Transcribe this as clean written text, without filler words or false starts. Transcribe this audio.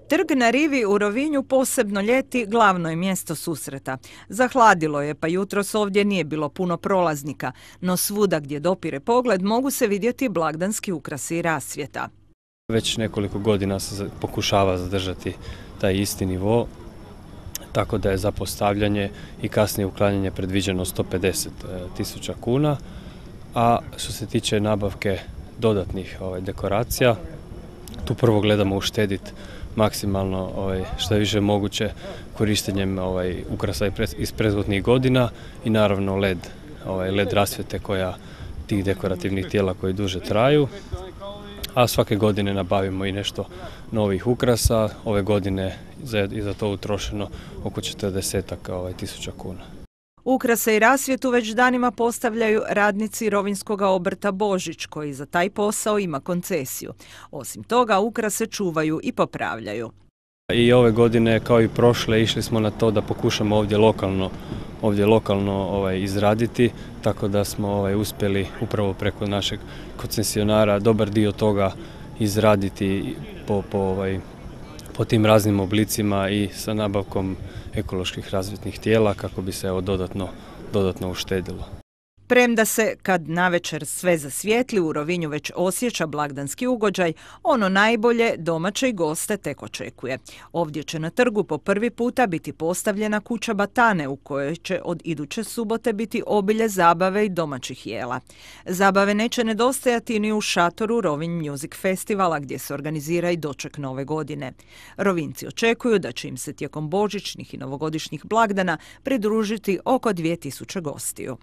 Trg na rivi u Rovinju posebno ljeti glavno je mjesto susreta. Zahladilo je, pa jutros ovdje nije bilo puno prolaznika, no svuda gdje dopire pogled mogu se vidjeti blagdanski ukrasi i rasvjeta. Već nekoliko godina se pokušava zadržati taj isti nivo, tako da je za postavljanje i kasnije uklanjanje predviđeno 150.000 kuna, a što se tiče nabavke dodatnih dekoracija, tu prvo gledamo uštediti maksimalno što je više moguće korištenjem ukrasa iz prethodnih godina i naravno LED rasvjete tih dekorativnih tijela koji duže traju, a svake godine nabavimo i nešto novih ukrasa. Ove godine je za to utrošeno oko 40.000 kuna. Ukrase i rasvjetu već danima postavljaju radnici rovinjskog obrta Božić, koji za taj posao ima koncesiju. Osim toga, ukrase čuvaju i popravljaju. I ove godine, kao i prošle, išli smo na to da pokušamo ovdje lokalno izraditi, tako da smo uspjeli upravo preko našeg koncesionara dobar dio toga izraditi po tim raznim oblicima i sa nabavkom ekoloških rasvjetnih tijela kako bi se dodatno uštedilo. Premda se, kad navečer sve zasvijetli, u Rovinju već osjeća blagdanski ugođaj, ono najbolje domaće i goste tek očekuje. Ovdje će na trgu po prvi puta biti postavljena kuća Batane, u kojoj će od iduće subote biti obilje zabave i domaćih jela. Zabave neće nedostajati ni u šatoru Rovinj Music Festivala, gdje se organizira i doček nove godine. Rovinjci očekuju da će im se tijekom božićnih i novogodišnjih blagdana pridružiti oko 2000 gostiju.